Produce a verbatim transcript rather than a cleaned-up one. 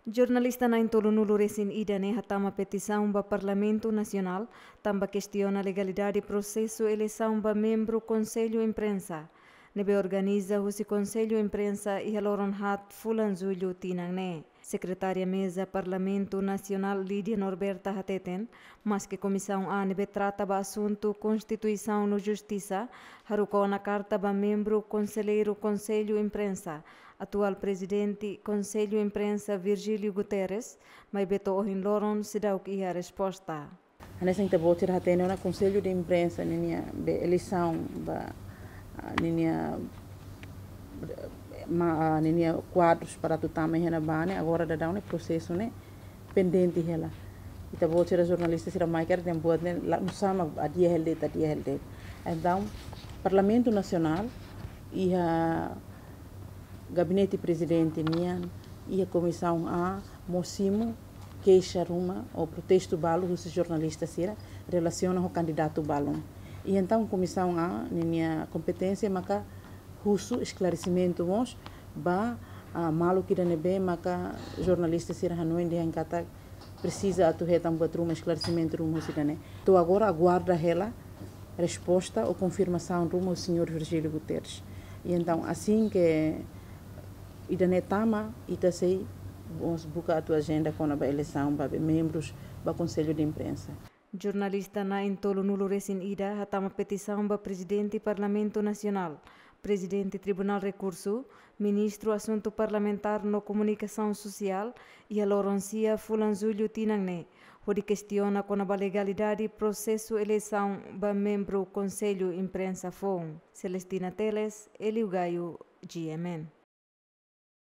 Jornalista na'in-tolunulu-resin-ida ne'e hatama petisaun ba Parlamentu Nasionál, tanba kestiona legalidade prosesu eleisaun ba membru Konsellu Imprensa ne'ebé organiza husi Konsellu Imprensa iha loron haat fulan Jullu tinan ne'e. Sekretária Meza Parlamentu Nasionál Lídia Norberta hateten, maske Komisaun A ne'ebé trata ba asuntu Konstituisaun no Justisa haruka ona karta ba membru konselleiru Konsellu Imprensa, atuál Prezidente Konsellu Imprensa Virgílio Guterres, maibé to'o ohin loron seidauk iha resposta. Hanesan ita-boot sira hatene ona, Konsellu de Imprensa ninia be eleisaun ba, ah, ninia, ma, ah, ninia kuadrus para atu tama iha ne'ebá ne'e, agora daudaun ne'e prosesu ne'e pendente hela. Ita-boot sira jornalista sira mai kaer dehan buat ne'e la, nusá mak adia hela de'it, adia hela de'it. Entaun, Parlamentu Nasionál iha Gabinete Prezidente nian, iha Komisaun A mós simu keixa ruma ou protestu balu husi jornalista sira relasiona ho kandidatu balun. I entaun Komisaun A ninia kompeténsia maka husu esklaresimentu mós ba, ah, maluk ida ne'ebé maka jornalista sira hanoin dehan katak presiza atu hetan buat ruma, esklaresimentu ruma husi ida-ne'e. To'o agora aguarda hela resposta ou konfirmasaun ruma husi señór Virgílio Guterres. I entaun, asin ke ida-ne'e tama, ita sei mós buka atu ajenda kona-ba eleisaun ba be membrus ba Konsellu de Imprensa. Jornalista na'in-tolunulu-resin-ida hatama petisaun ba Prezidente Parlamentu Nasionál, Prezidente Tribunál Rekursu, Ministru Asuntu Parlamentár no Komunikasaun Sosiál, iha loron sia fulan Jullu tinan ne'e, hodi kestiona kona-ba legalidade prosesu eleisaun ba membru Konsellu Imprensa foun. Celestina Teles, Elio Gaio, G M N.